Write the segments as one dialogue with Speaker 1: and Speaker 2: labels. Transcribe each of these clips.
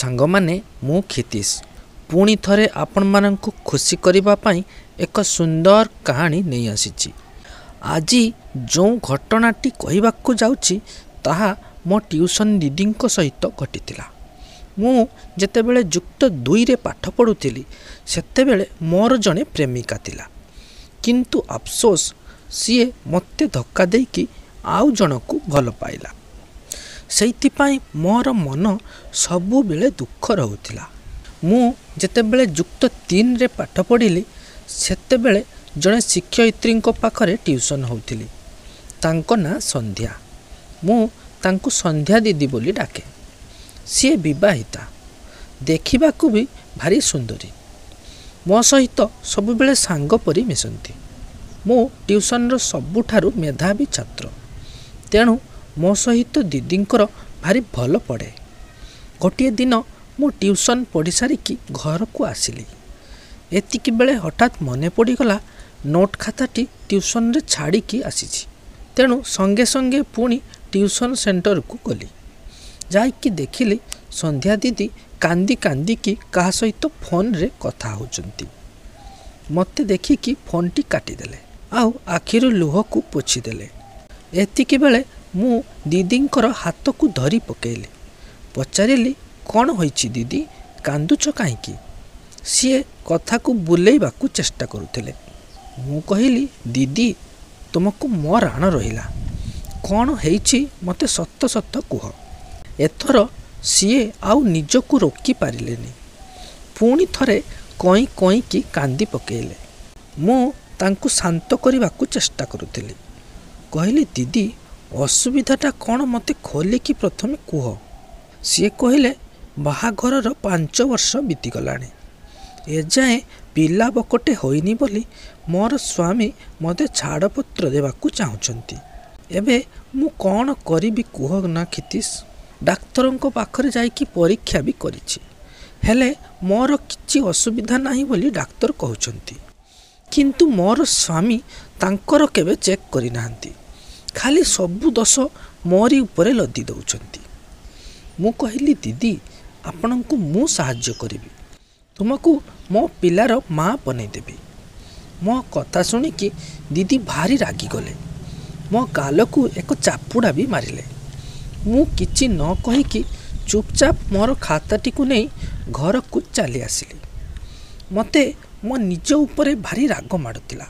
Speaker 1: ସାଙ୍ଗମାନେ, ମୁଁ କ୍ଷିତୀଶ ପୁଣି ଥରେ ଆପଣମାନଙ୍କୁ ଖୁସି କରିବା ପାଇଁ ଏକ ସୁନ୍ଦର କାହାଣୀ ନେଇ ଆସିଛି। ଆଜି ଯେଉଁ ଘଟଣାଟି କହିବାକୁ ଯାଉଛି ତାହା ମୋ ଟ୍ୟୁସନ୍ ଦିଦିଙ୍କ ସହିତ ଘଟିଥିଲା। ମୁଁ ଯେତେବେଳେ ଯୁକ୍ତ ଦୁଇରେ ପାଠ ପଢ଼ୁଥିଲି ସେତେବେଳେ ମୋର ଜଣେ ପ୍ରେମିକା ଥିଲା, କିନ୍ତୁ ଅଫସୋସ ସିଏ ମୋତେ ଧକ୍କା ଦେଇକି ଆଉ ଜଣକୁ ଭଲ ପାଇଲା। ସେଇଥିପାଇଁ ମୋର ମନ ସବୁବେଳେ ଦୁଃଖ ରହୁଥିଲା। ମୁଁ ଯେତେବେଳେ ଯୁକ୍ତ ତିନିରେ ପାଠ ପଢ଼ିଲି ସେତେବେଳେ ଜଣେ ଶିକ୍ଷୟିତ୍ରୀଙ୍କ ପାଖରେ ଟ୍ୟୁସନ୍ ହେଉଥିଲି। ତାଙ୍କ ନାଁ ସନ୍ଧ୍ୟା। ମୁଁ ତାଙ୍କୁ ସନ୍ଧ୍ୟା ଦିଦି ବୋଲି ଡାକେ। ସିଏ ବିବାହିତା, ଦେଖିବାକୁ ବି ଭାରି ସୁନ୍ଦରୀ। ମୋ ସହିତ ସବୁବେଳେ ସାଙ୍ଗ ପରି ମିଶନ୍ତି। ମୁଁ ଟ୍ୟୁସନ୍ର ସବୁଠାରୁ ମେଧାବୀ ଛାତ୍ର, ତେଣୁ ମୋ ସହିତ ଦିଦିଙ୍କର ଭାରି ଭଲ ପଡ଼େ। ଗୋଟିଏ ଦିନ ମୁଁ ଟ୍ୟୁସନ୍ ପଢ଼ି ସାରିକି ଘରକୁ ଆସିଲି। ଏତିକି ବେଳେ ହଠାତ୍ ମନେ ପଡ଼ିଗଲା ନୋଟ୍ ଖାତାଟି ଟ୍ୟୁସନ୍ରେ ଛାଡ଼ିକି ଆସିଛି। ତେଣୁ ସଙ୍ଗେ ସଙ୍ଗେ ପୁଣି ଟ୍ୟୁସନ୍ ସେଣ୍ଟରକୁ ଗଲି। ଯାଇକି ଦେଖିଲି ସନ୍ଧ୍ୟା ଦିଦି କାନ୍ଦି କାନ୍ଦିକି କାହା ସହିତ ଫୋନ୍ରେ କଥା ହେଉଛନ୍ତି। ମୋତେ ଦେଖିକି ଫୋନ୍ଟି କାଟିଦେଲେ ଆଉ ଆଖିରୁ ଲୁହକୁ ପୋଛିଦେଲେ। ଏତିକି ବେଳେ ମୁଁ ଦିଦିଙ୍କର ହାତକୁ ଧରି ପକେଇଲି। ପଚାରିଲି, କ'ଣ ହୋଇଛି ଦିଦି, କାନ୍ଦୁଛ କାହିଁକି? ସିଏ କଥାକୁ ବୁଲେଇବାକୁ ଚେଷ୍ଟା କରୁଥିଲେ। ମୁଁ କହିଲି, ଦିଦି ତୁମକୁ ମୋ ରାଣ ରହିଲା, କ'ଣ ହେଇଛି ମୋତେ ସତ ସତ କୁହ। ଏଥର ସିଏ ଆଉ ନିଜକୁ ରୋକି ପାରିଲେନି, ପୁଣି ଥରେ କଇଁ କଇଁକି କାନ୍ଦି ପକେଇଲେ। ମୁଁ ତାଙ୍କୁ ଶାନ୍ତ କରିବାକୁ ଚେଷ୍ଟା କରୁଥିଲି। କହିଲି, ଦିଦି ଅସୁବିଧାଟା କ'ଣ ମୋତେ ଖୋଲିକି ପ୍ରଥମେ କୁହ। ସିଏ କହିଲେ, ବାହାଘରର 5 ବର୍ଷ ବିତିଗଲାଣି, ଏଯାଏଁ ପିଲା ବକଟେ ହୋଇନି ବୋଲି ମୋର ସ୍ୱାମୀ ମୋତେ ଛାଡ଼ପତ୍ର ଦେବାକୁ ଚାହୁଁଛନ୍ତି। ଏବେ ମୁଁ କ'ଣ କରିବି କୁହ ନା କ୍ଷିତୀଶ। ଡାକ୍ତରଙ୍କ ପାଖରେ ଯାଇକି ପରୀକ୍ଷା ବି କରିଛି, ହେଲେ ମୋର କିଛି ଅସୁବିଧା ନାହିଁ ବୋଲି ଡାକ୍ତର କହୁଛନ୍ତି। କିନ୍ତୁ ମୋର ସ୍ୱାମୀ ତାଙ୍କର କେବେ ଚେକ୍ କରିନାହାନ୍ତି, ଖାଲି ସବୁ ଦୋଷ ମୋରି ଉପରେ ଲଦି ଦେଉଛନ୍ତି। ମୁଁ କହିଲି, ଦିଦି ଆପଣଙ୍କୁ ମୁଁ ସାହାଯ୍ୟ କରିବି, ତୁମକୁ ମୋ ପିଲାର ମା ବନେଇଦେବି। ମୋ କଥା ଶୁଣିକି ଦିଦି ଭାରି ରାଗିଗଲେ, ମୋ ଗାଲକୁ ଏକ ଚାପୁଡ଼ା ବି ମାରିଲେ। ମୁଁ କିଛି ନ କହିକି ଚୁପଚାପ ମୋର ଖାତାଟିକୁ ନେଇ ଘରକୁ ଚାଲି ଆସିଲି। ମୋତେ ମୋ ନିଜ ଉପରେ ଭାରି ରାଗ ମାଡ଼ୁଥିଲା।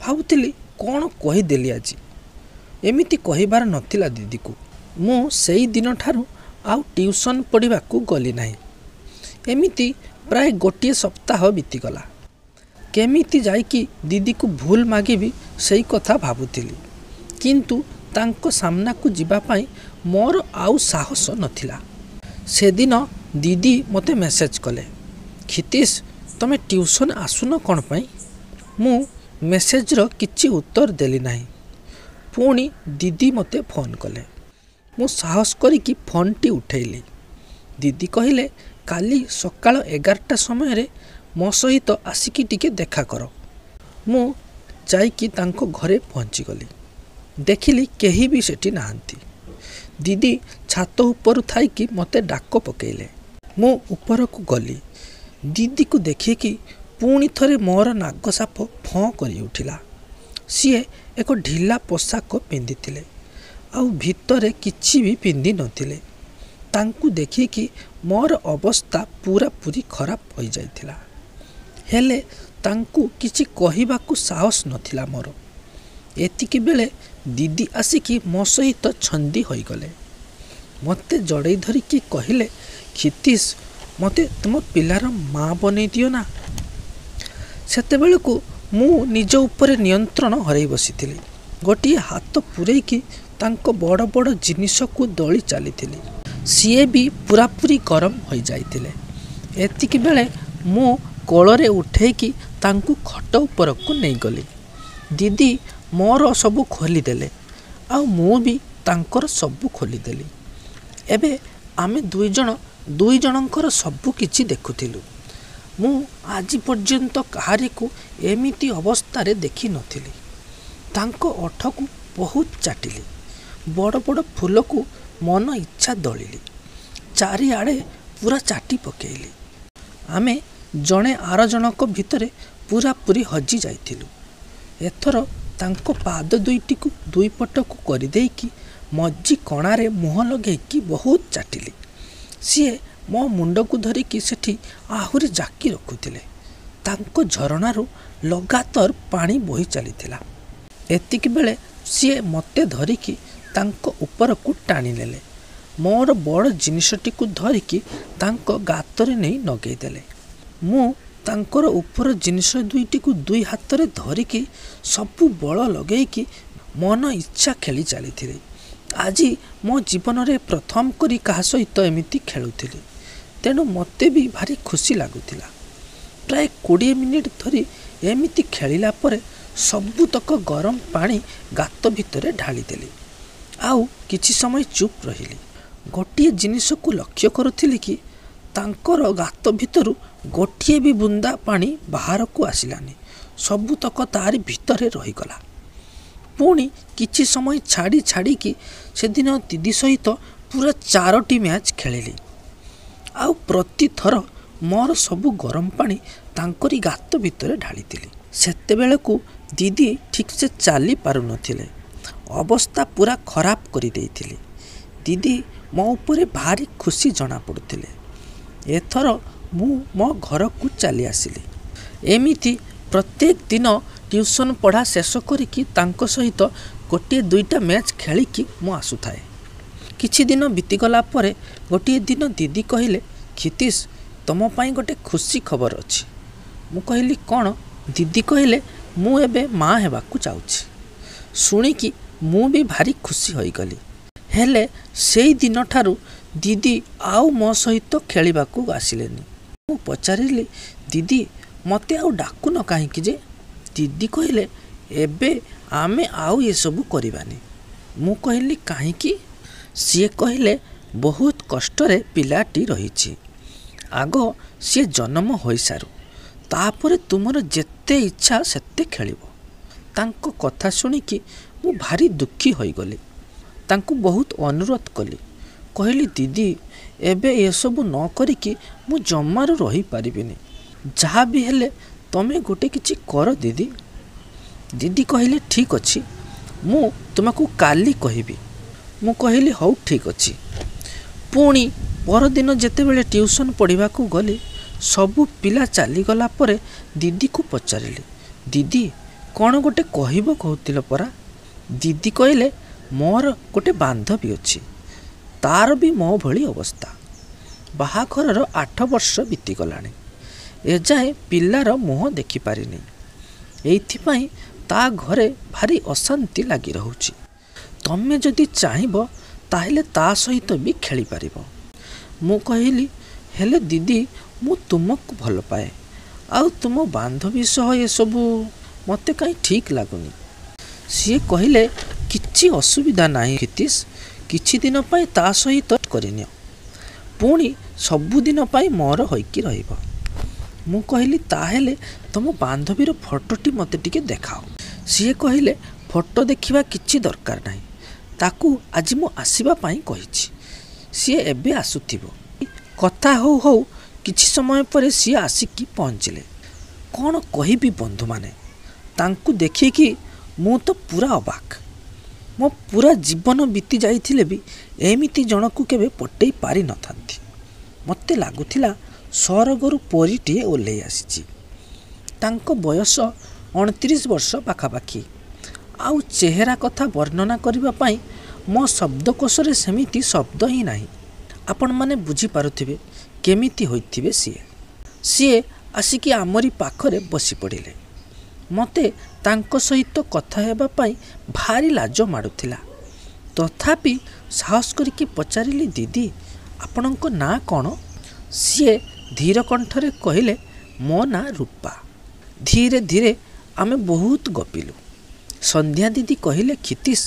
Speaker 1: ଭାବୁଥିଲି କ'ଣ କହିଦେଲି ଆଜି, ଏମିତି କହିବାର ନଥିଲା ଦିଦିକୁ। ମୁଁ ସେଇ ଦିନଠାରୁ ଆଉ ଟ୍ୟୁସନ୍ ପଢ଼ିବାକୁ ଗଲି ନାହିଁ। ଏମିତି ପ୍ରାୟ ଗୋଟିଏ ସପ୍ତାହ ବିତିଗଲା। କେମିତି ଯାଇକି ଦିଦିକୁ ଭୁଲ ମାଗିବି ସେଇ କଥା ଭାବୁଥିଲି, କିନ୍ତୁ ତାଙ୍କ ସାମ୍ନାକୁ ଯିବା ପାଇଁ ମୋର ଆଉ ସାହସ ନଥିଲା। ସେଦିନ ଦିଦି ମୋତେ ମେସେଜ୍ କଲେ, କ୍ଷିତୀଶ ତୁମେ ଟ୍ୟୁସନ୍ ଆସୁନ କ'ଣ ପାଇଁ? ମୁଁ ମେସେଜ୍ର କିଛି ଉତ୍ତର ଦେଲି ନାହିଁ। ପୁଣି ଦିଦି ମୋତେ ଫୋନ୍ କଲେ। ମୁଁ ସାହସ କରିକି ଫୋନ୍ଟି ଉଠେଇଲି। ଦିଦି କହିଲେ, କାଲି ସକାଳ 11ଟା ସମୟରେ ମୋ ସହିତ ଆସିକି ଟିକେ ଦେଖା କର। ମୁଁ ଯାଇକି ତାଙ୍କ ଘରେ ପହଞ୍ଚିଗଲି। ଦେଖିଲି କେହି ବି ସେଠି ନାହାନ୍ତି। ଦିଦି ଛାତ ଉପରୁ ଥାଇକି ମୋତେ ଡାକ ପକେଇଲେ। ମୁଁ ଉପରକୁ ଗଲି। ଦିଦିକୁ ଦେଖିକି ପୁଣି ଥରେ ମୋର ନାଗ ସାପ ଫଁ କରି ଉଠିଲା। ସିଏ ଏକ ଢିଲା ପୋଷାକ ପିନ୍ଧିଥିଲେ ଆଉ ଭିତରେ କିଛି ବି ପିନ୍ଧି ନଥିଲେ। ତାଙ୍କୁ ଦେଖିକି ମୋର ଅବସ୍ଥା ପୂରାପୂରି ଖରାପ ହୋଇଯାଇଥିଲା। ହେଲେ ତାଙ୍କୁ କିଛି କହିବାକୁ ସାହସ ନଥିଲା ମୋର। ଏତିକି ବେଳେ ଦିଦି ଆସିକି ମୋ ସହିତ ଛନ୍ଦି ହୋଇଗଲେ। ମୋତେ ଜଡ଼େଇ ଧରିକି କହିଲେ, କ୍ଷିତୀଶ ମୋତେ ତୁମ ପିଲାର ମା ବନେଇ ଦିଅ ନା। ସେତେବେଳକୁ ମୁଁ ନିଜ ଉପରେ ନିୟନ୍ତ୍ରଣ ହରାଇ ବସିଥିଲି। ଗୋଟିଏ ହାତ ପୂରେଇକି ତାଙ୍କ ବଡ଼ ବଡ଼ ଜିନିଷକୁ ଦଳି ଚାଲିଥିଲି। ସିଏ ବି ପୂରାପୂରି ଗରମ ହୋଇଯାଇଥିଲେ। ଏତିକି ବେଳେ ମୁଁ କୋଳରେ ଉଠେଇକି ତାଙ୍କୁ ଖଟ ଉପରକୁ ନେଇଗଲି। ଦିଦି ମୋର ସବୁ ଖୋଲିଦେଲେ ଆଉ ମୁଁ ବି ତାଙ୍କର ସବୁ ଖୋଲିଦେଲି। ଏବେ ଆମେ ଦୁଇ ଜଣ ଦୁଇ ଜଣଙ୍କର ସବୁ କିଛି ଦେଖୁଥିଲୁ। ମୁଁ ଆଜି ପର୍ଯ୍ୟନ୍ତ କାହାରିକୁ ଏମିତି ଅବସ୍ଥାରେ ଦେଖିନଥିଲି। ତାଙ୍କ ଓଠକୁ ବହୁତ ଚାଟିଲି, ବଡ଼ ବଡ଼ ଫୁଲକୁ ମନ ଇଚ୍ଛା ଦଳିଲି, ଚାରିଆଡ଼େ ପୁରା ଚାଟି ପକେଇଲି। ଆମେ ଜଣେ ଆର ଜଣକ ଭିତରେ ପୁରାପୁରି ହଜି ଯାଇଥିଲୁ। ଏଥର ତାଙ୍କ ପାଦ ଦୁଇଟିକୁ ଦୁଇ ପଟକୁ କରିଦେଇକି ମଝି କଣାରେ ମୁହଁ ଲଗେଇକି ବହୁତ ଚାଟିଲି। ସିଏ ମୋ ମୁଣ୍ଡକୁ ଧରିକି ସେଠି ଆହୁରି ଜାକି ରଖୁଥିଲେ। ତାଙ୍କ ଝରଣାରୁ ଲଗାତାର ପାଣି ବୋହି ଚାଲିଥିଲା। ଏତିକି ବେଳେ ସିଏ ମୋତେ ଧରିକି ତାଙ୍କ ଉପରକୁ ଟାଣିନେଲେ। ମୋର ବଡ଼ ଜିନିଷଟିକୁ ଧରିକି ତାଙ୍କ ଗାତରେ ନେଇ ନଗେଇଦେଲେ। ମୁଁ ତାଙ୍କର ଉପର ଜିନିଷ ଦୁଇଟିକୁ ଦୁଇ ହାତରେ ଧରିକି ସବୁ ବଳ ଲଗେଇକି ମନ ଇଚ୍ଛା ଖେଳି ଚାଲିଥିଲି। ଆଜି ମୋ ଜୀବନରେ ପ୍ରଥମ କରି କାହା ସହିତ ଏମିତି ଖେଳୁଥିଲି, ତେଣୁ ମୋତେ ବି ଭାରି ଖୁସି ଲାଗୁଥିଲା। ପ୍ରାୟ 20 ମିନିଟ୍ ଧରି ଏମିତି ଖେଳିଲା ପରେ ସବୁତକ ଗରମ ପାଣି ଗାତ ଭିତରେ ଢାଳିଦେଲି। ଆଉ କିଛି ସମୟ ଚୁପ୍ ରହିଲି। ଗୋଟିଏ ଜିନିଷକୁ ଲକ୍ଷ୍ୟ କରୁଥିଲି କି ତାଙ୍କର ଗାତ ଭିତରୁ ଗୋଟିଏ ବି ବୁନ୍ଦା ପାଣି ବାହାରକୁ ଆସିଲାନି, ସବୁତକ ତାରି ଭିତରେ ରହିଗଲା। ପୁଣି କିଛି ସମୟ ଛାଡ଼ି ଛାଡ଼ିକି ସେଦିନ ଦିଦି ସହିତ ପୁରା 4ଟି ମ୍ୟାଚ୍ ଖେଳିଲି। ଆଉ ପ୍ରତିଥର ମୋର ସବୁ ଗରମ ପାଣି ତାଙ୍କରି ଗାତ ଭିତରେ ଢାଳିଥିଲି। ସେତେବେଳକୁ ଦିଦି ଠିକ୍ସେ ଚାଲି ପାରୁନଥିଲେ। ଅବସ୍ଥା ପୁରା ଖରାପ କରିଦେଇଥିଲି। ଦିଦି ମୋ ଉପରେ ଭାରି ଖୁସି ଜଣାପଡ଼ୁଥିଲେ। ଏଥର ମୁଁ ମୋ ଘରକୁ ଚାଲି ଆସିଲି। ଏମିତି ପ୍ରତ୍ୟେକ ଦିନ ଟ୍ୟୁସନ୍ ପଢ଼ା ଶେଷ କରିକି ତାଙ୍କ ସହିତ ଗୋଟିଏ ଦୁଇଟା ମ୍ୟାଚ୍ ଖେଳିକି ମୁଁ ଆସୁଥାଏ। କିଛି ଦିନ ବିତିଗଲା ପରେ ଗୋଟିଏ ଦିନ ଦିଦି କହିଲେ, କ୍ଷିତୀଶ, ତୁମ ପାଇଁ ଗୋଟେ ଖୁସି ଖବର ଅଛି। ମୁଁ କହିଲି, କ'ଣ? ଦିଦି କହିଲେ, ମୁଁ ଏବେ ମା' ହେବାକୁ ଯାଉଛି। ଶୁଣିକି ମୁଁ ବି ଭାରି ଖୁସି ହୋଇଗଲି। ହେଲେ ସେଇ ଦିନଠାରୁ ଦିଦି ଆଉ ମୋ ସହିତ ଖେଳିବାକୁ ଆସିଲେନି। ମୁଁ ପଚାରିଲି, ଦିଦି, ମୋତେ ଆଉ ଡାକୁନ କାହିଁକି ଯେ? ଦିଦି କହିଲେ, ଏବେ ଆମେ ଆଉ ଏସବୁ କରିବାନି। ମୁଁ କହିଲି, କାହିଁକି? ସିଏ କହିଲେ, ବହୁତ କଷ୍ଟରେ ପିଲାଟି ରହିଛି, ଆଗ ସିଏ ଜନ୍ମ ହୋଇସାରୁ, ତାପରେ ତୁମର ଯେତେ ଇଚ୍ଛା ସେତେ ଖେଳିବ। ତାଙ୍କ କଥା ଶୁଣିକି ମୁଁ ଭାରି ଦୁଃଖୀ ହୋଇଗଲି। ତାଙ୍କୁ ବହୁତ ଅନୁରୋଧ କଲି। କହିଲି, ଦିଦି, ଏବେ ଏସବୁ ନ କରିକି ମୁଁ ଜମାରୁ ରହିପାରିବିନି, ଯାହା ବି ହେଲେ ତମେ ଗୋଟେ କିଛି କର ଦିଦି। ଦିଦି କହିଲେ, ଠିକ୍ ଅଛି, ମୁଁ ତୁମକୁ କାଲି କହିବି। ମୁଁ କହିଲି, ହଉ ଠିକ୍ ଅଛି। ପୁଣି ପରଦିନ ଯେତେବେଳେ ଟ୍ୟୁସନ୍ ପଢ଼ିବାକୁ ଗଲି, ସବୁ ପିଲା ଚାଲିଗଲା ପରେ ଦିଦିକୁ ପଚାରିଲି, ଦିଦି, କ'ଣ ଗୋଟେ କହିବ କହୁଥିଲ ପରା? ଦିଦି କହିଲେ, ମୋର ଗୋଟେ ବାନ୍ଧବୀ ଅଛି, ତାର ବି ମୋ ଭଳି ଅବସ୍ଥା। ବାହାଘରର 8 ବର୍ଷ ବିତିଗଲାଣି, ଏଯାଏଁ ପିଲାର ମୁହଁ ଦେଖିପାରିନି। ଏଇଥିପାଇଁ ତା ଘରେ ଭାରି ଅଶାନ୍ତି ଲାଗି ରହୁଛି। ତମେ ଯଦି ଚାହିଁବ ତାହେଲେ ତା ସହିତ ବି ଖେଳିପାରିବ। ମୁଁ କହିଲି, ହେଲେ ଦିଦି, ମୁଁ ତୁମକୁ ଭଲ ପାଏ, ଆଉ ତୁମ ବାନ୍ଧବୀ ସହ ଏସବୁ ମୋତେ କାହିଁ ଠିକ୍ ଲାଗୁନି। ସିଏ କହିଲେ, କିଛି ଅସୁବିଧା ନାହିଁ କ୍ଷିତୀଶ, କିଛି ଦିନ ପାଇଁ ତା ସହିତ କରିନିଅ, ପୁଣି ସବୁଦିନ ପାଇଁ ମୋର ହୋଇକି ରହିବ। ମୁଁ କହିଲି, ତାହେଲେ ତୁମ ବାନ୍ଧବୀର ଫଟୋଟି ମୋତେ ଟିକେ ଦେଖାଅ। ସିଏ କହିଲେ, ଫଟୋ ଦେଖିବା କିଛି ଦରକାର ନାହିଁ, ତାକୁ ଆଜି ମୁଁ ଆସିବା ପାଇଁ କହିଛି, ସିଏ ଏବେ ଆସୁଥିବ। କଥା ହଉ ହଉ କିଛି ସମୟ ପରେ ସିଏ ଆସିକି ପହଞ୍ଚିଲେ। କ'ଣ କହିବି ବନ୍ଧୁମାନେ, ତାଙ୍କୁ ଦେଖିକି ମୁଁ ତ ପୁରା ଅବାକ୍। ମୋ ପୁରା ଜୀବନ ବିତି ଯାଇଥିଲେ ବି ଏମିତି ଜଣକୁ କେବେ ପଟେଇ ପାରିନଥାନ୍ତି। ମୋତେ ଲାଗୁଥିଲା ସରଗରୁ ପରୀଟିଏ ଓହ୍ଲେଇ ଆସିଛି। ତାଙ୍କ ବୟସ 29 ବର୍ଷ ପାଖାପାଖି। ଆଉ ଚେହେରା କଥା ବର୍ଣ୍ଣନା କରିବା ପାଇଁ ମୋ ଶବ୍ଦକୋଷରେ ସେମିତି ଶବ୍ଦ ହିଁ ନାହିଁ। ଆପଣମାନେ ବୁଝିପାରୁଥିବେ କେମିତି ହୋଇଥିବେ ସିଏ। ସିଏ ଆସିକି ଆମରି ପାଖରେ ବସି ପଡ଼ିଲେ। ମୋତେ ତାଙ୍କ ସହିତ କଥା ହେବା ପାଇଁ ଭାରି ଲାଜ ମାଡ଼ୁଥିଲା। ତଥାପି ସାହସ କରିକି ପଚାରିଲି, ଦିଦି, ଆପଣଙ୍କ ନାଁ କ'ଣ? ସିଏ ଧୀର କଣ୍ଠରେ କହିଲେ, ମୋ ନାଁ ରୂପା। ଧୀରେ ଧୀରେ ଆମେ ବହୁତ ଗପିଲୁ। ସନ୍ଧ୍ୟା ଦିଦି କହିଲେ, କ୍ଷିତୀଶ,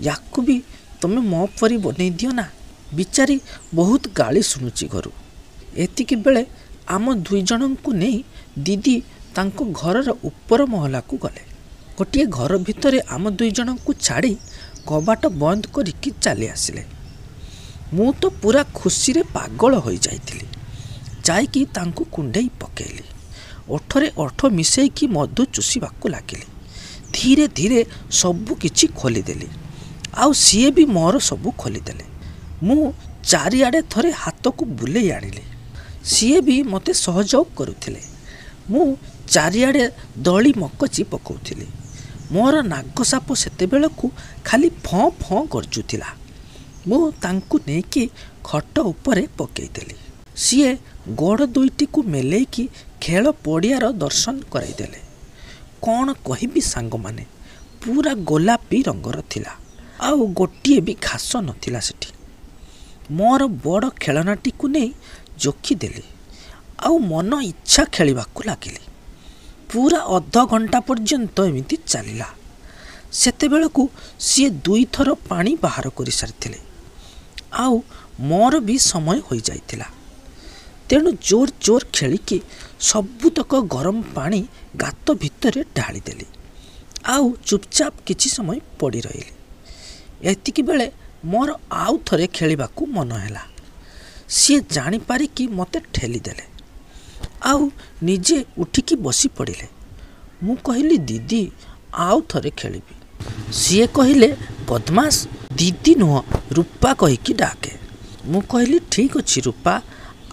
Speaker 1: ୟାକୁ ବି ତୁମେ ମୋ ପରି ବନେଇ ଦିଅ ନା, ବିଚାରି ବହୁତ ଗାଳି ଶୁଣୁଛି ଘରୁ। ଏତିକି ବେଳେ ଆମ ଦୁଇ ଜଣଙ୍କୁ ନେଇ ଦିଦି ତାଙ୍କ ଘରର ଉପର ମହଲାକୁ ଗଲେ। ଗୋଟିଏ ଘର ଭିତରେ ଆମ ଦୁଇ ଜଣଙ୍କୁ ଛାଡ଼ି କବାଟ ବନ୍ଦ କରିକି ଚାଲି ଆସିଲେ। ମୁଁ ତ ପୁରା ଖୁସିରେ ପାଗଳ ହୋଇଯାଇଥିଲି। ଯାଇକି ତାଙ୍କୁ କୁଣ୍ଢେଇ ପକେଇଲି, ଓଠରେ ଓଠ ମିଶେଇକି ମଧୁ ଚୁଷିବାକୁ ଲାଗିଲି। ଧୀରେ ଧୀରେ ସବୁ କିଛି ଖୋଲିଦେଲି, ଆଉ ସିଏ ବି ମୋର ସବୁ ଖୋଲିଦେଲେ। ମୁଁ ଚାରିଆଡ଼େ ଥରେ ହାତକୁ ବୁଲେଇ ଆଣିଲି, ସିଏ ବି ମୋତେ ସହଯୋଗ କରୁଥିଲେ। ମୁଁ ଚାରିଆଡ଼େ ଦଳି ମକଚି ପକାଉଥିଲି। ମୋର ନାଗ ସାପ ସେତେବେଳକୁ ଖାଲି ଫଁ ଫଁ ଗର୍ଜୁଥିଲା। ମୁଁ ତାଙ୍କୁ ନେଇକି ଖଟ ଉପରେ ପକେଇଦେଲି। ସିଏ ଗୋଡ଼ ଦୁଇଟିକୁ ମେଲେଇକି ଖେଳ ପଡ଼ିଆର ଦର୍ଶନ କରାଇଦେଲେ। କ'ଣ କହିବି ସାଙ୍ଗମାନେ, ପୁରା ଗୋଲାପୀ ରଙ୍ଗର ଥିଲା, ଆଉ ଗୋଟିଏ ବି ଘାସ ନଥିଲା ସେଠି। ମୋର ବଡ଼ ଖେଳନାଟିକୁ ନେଇ ଜୋଖିଦେଲି ଆଉ ମନ ଇଚ୍ଛା ଖେଳିବାକୁ ଲାଗିଲି। ପୁରା ଅଧଘଣ୍ଟା ପର୍ଯ୍ୟନ୍ତ ଏମିତି ଚାଲିଲା। ସେତେବେଳକୁ ସିଏ ଦୁଇଥର ପାଣି ବାହାର କରିସାରିଥିଲେ, ଆଉ ମୋର ବି ସମୟ ହୋଇଯାଇଥିଲା। ତେଣୁ ଜୋର ଜୋର ଖେଳିକି ସବୁତକ ଗରମ ପାଣି ଗାତ ଭିତରେ ଢାଳିଦେଲି ଆଉ ଚୁପଚାପ କିଛି ସମୟ ପଡ଼ି ରହିଲି। ଏତିକି ବେଳେ ମୋର ଆଉ ଥରେ ଖେଳିବାକୁ ମନ ହେଲା। ସିଏ ଜାଣିପାରିକି ମୋତେ ଠେଲିଦେଲେ ଆଉ ନିଜେ ଉଠିକି ବସି ପଡ଼ିଲେ। ମୁଁ କହିଲି, ଦିଦି, ଆଉ ଥରେ ଖେଳିବି। ସିଏ କହିଲେ, ବଦମାସ, ଦିଦି ନୁହଁ, ରୂପା କହିକି ଡାକେ। ମୁଁ କହିଲି, ଠିକ୍ ଅଛି ରୂପା,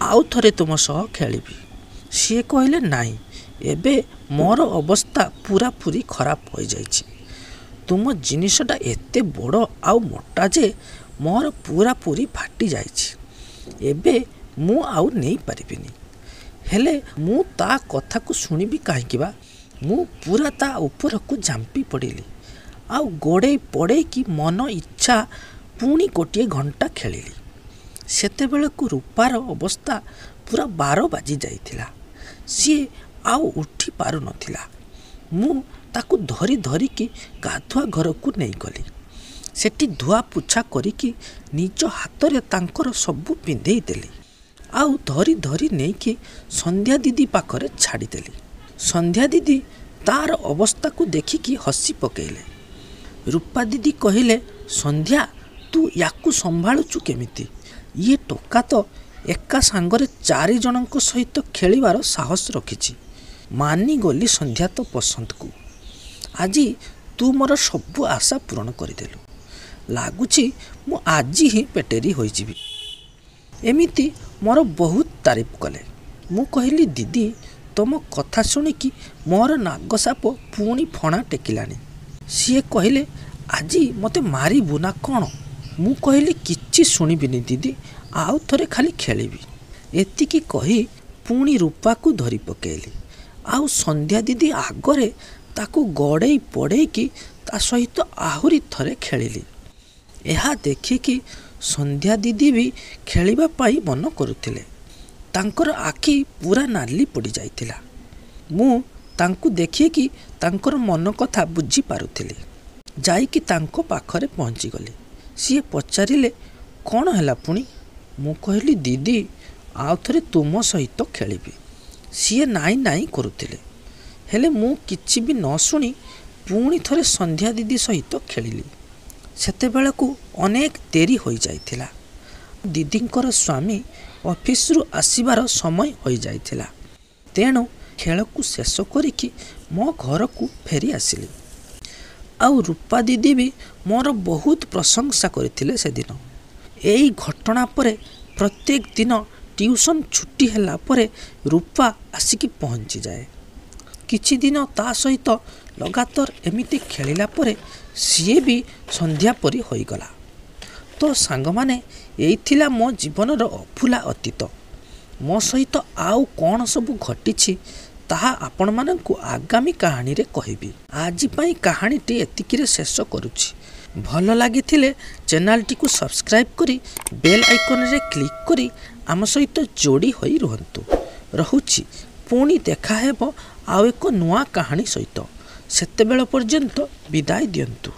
Speaker 1: ଆଉ ଥରେ ତୁମ ସହ ଖେଳିବି। ସିଏ କହିଲେ, ନାଇଁ, ଏବେ ମୋର ଅବସ୍ଥା ପୁରାପୁରି ଖରାପ ହୋଇଯାଇଛି। ତୁମ ଜିନିଷଟା ଏତେ ବଡ଼ ଆଉ ମୋଟା ଯେ ମୋର ପୁରାପୁରି ଫାଟି ଯାଇଛି। ଏବେ ମୁଁ ଆଉ ନେଇପାରିବିନି। ହେଲେ ମୁଁ ତା କଥାକୁ ଶୁଣିବି କାହିଁକି ବା? ମୁଁ ପୁରା ତା ଉପରକୁ ଝାମ୍ପି ପଡ଼ିଲି ଆଉ ଗୋଡ଼େଇ ପଡ଼େଇକି ମନ ଇଚ୍ଛା ପୁଣି ଗୋଟିଏ ଘଣ୍ଟା ଖେଳିଲି। ସେତେବେଳକୁ ରୂପାର ଅବସ୍ଥା ପୁରା 12 ବାଜି ଯାଇଥିଲା। ସିଏ ଆଉ ଉଠି ପାରୁନଥିଲା। ମୁଁ ତାକୁ ଧରି ଧରିକି ଗାଧୁଆ ଘରକୁ ନେଇଗଲି। ସେଠି ଧୁଆ ପୋଛା କରିକି ନିଜ ହାତରେ ତାଙ୍କର ସବୁ ପିନ୍ଧେଇ ଦେଲି ଆଉ ଧରି ଧରି ନେଇକି ସନ୍ଧ୍ୟା ଦିଦି ପାଖରେ ଛାଡ଼ିଦେଲି। ସନ୍ଧ୍ୟା ଦିଦି ତାର ଅବସ୍ଥାକୁ ଦେଖିକି ହସି ପକେଇଲେ। ରୂପା ଦିଦି କହିଲେ, ସନ୍ଧ୍ୟା, ତୁ ୟାକୁ ସମ୍ଭାଳୁଛୁ କେମିତି? ଇଏ ଟୋକା ତ ଏକା ସାଙ୍ଗରେ 4 ଜଣଙ୍କ ସହିତ ଖେଳିବାର ସାହସ ରଖିଛି। ମାନିଗଲି ସନ୍ଧ୍ୟା ତୋ ପସନ୍ଦକୁ। ଆଜି ତୁ ମୋର ସବୁ ଆଶା ପୂରଣ କରିଦେଲୁ। ଲାଗୁଛି ମୁଁ ଆଜି ହିଁ ପେଟେରି ହୋଇଯିବି। ଏମିତି ମୋର ବହୁତ ତାରିଫ କଲେ। ମୁଁ କହିଲି, ଦିଦି, ତମ କଥା ଶୁଣିକି ମୋର ନାଗ ସାପ ପୁଣି ଫଣା ଟେକିଲାଣି। ସିଏ କହିଲେ, ଆଜି ମୋତେ ମାରିବୁ ନା କ'ଣ? ମୁଁ କହିଲି, କିଛି ଶୁଣିବିନି ଦିଦି, ଆଉ ଥରେ ଖାଲି ଖେଳିବି। ଏତିକି କହି ପୁଣି ରୂପାକୁ ଧରି ପକେଇଲି ଆଉ ସନ୍ଧ୍ୟା ଦିଦି ଆଗରେ ତାକୁ ଗଡ଼େଇ ପଡ଼େଇକି ତା ସହିତ ଆହୁରି ଥରେ ଖେଳିଲି। ଏହା ଦେଖିକି ସନ୍ଧ୍ୟା ଦିଦି ବି ଖେଳିବା ପାଇଁ ମନ କରୁଥିଲେ। ତାଙ୍କର ଆଖି ପୁରା ନାଲି ପଡ଼ିଯାଇଥିଲା। ମୁଁ ତାଙ୍କୁ ଦେଖିକି ତାଙ୍କର ମନ କଥା ବୁଝିପାରୁଥିଲି। ଯାଇକି ତାଙ୍କ ପାଖରେ ପହଞ୍ଚିଗଲି। ସିଏ ପଚାରିଲେ, କ'ଣ ହେଲା ପୁଣି? ମୁଁ କହିଲି, ଦିଦି, ଆଉ ଥରେ ତୁମ ସହିତ ଖେଳିବି। ସିଏ ନାଇଁ ନାଇଁ କରୁଥିଲେ, ହେଲେ ମୁଁ କିଛି ବି ନ ଶୁଣି ପୁଣି ଥରେ ସନ୍ଧ୍ୟା ଦିଦି ସହିତ ଖେଳିଲି। ସେତେବେଳକୁ ଅନେକ ଡେରି ହୋଇଯାଇଥିଲା। ଦିଦିଙ୍କର ସ୍ୱାମୀ ଅଫିସରୁ ଆସିବାର ସମୟ ହୋଇଯାଇଥିଲା। ତେଣୁ ଖେଳକୁ ଶେଷ କରିକି ମୋ ଘରକୁ ଫେରି ଆସିଲି। ଆଉ ରୂପା ଦିଦି ବି ମୋର ବହୁତ ପ୍ରଶଂସା କରିଥିଲେ ସେଦିନ। ଏଇ ଘଟଣା ପରେ ପ୍ରତ୍ୟେକ ଦିନ ଟ୍ୟୁସନ୍ ଛୁଟି ହେଲା ପରେ ରୂପା ଆସିକି ପହଞ୍ଚିଯାଏ। କିଛି ଦିନ ତା ସହିତ ଲଗାତାର ଏମିତି ଖେଳିଲା ପରେ ସିଏ ବି ସନ୍ଧ୍ୟା ପରି ହୋଇଗଲା। ତ ସାଙ୍ଗମାନେ, ଏଇ ଥିଲା ମୋ ଜୀବନର ଅଭୁଲା ଅତୀତ। ମୋ ସହିତ ଆଉ କ'ଣ ସବୁ ଘଟିଛି ତାହା ଆପଣମାନଙ୍କୁ ଆଗାମୀ କାହାଣୀରେ କହିବି। ଆଜି ପାଇଁ କାହାଣୀଟି ଏତିକିରେ ଶେଷ କରୁଛି। ଭଲ ଲାଗିଥିଲେ ଚ୍ୟାନେଲଟିକୁ ସବସ୍କ୍ରାଇବ୍ କରି ବେଲ୍ ଆଇକନ୍ରେ କ୍ଲିକ୍ କରି ଆମ ସହିତ ଯୋଡ଼ି ହୋଇ ରୁହନ୍ତୁ। ରହୁଛି, ପୁଣି ଦେଖାହେବ ଆଉ ଏକ ନୂଆ କାହାଣୀ ସହିତ। ସେତେବେଳ ପର୍ଯ୍ୟନ୍ତ ବିଦାୟ ଦିଅନ୍ତୁ।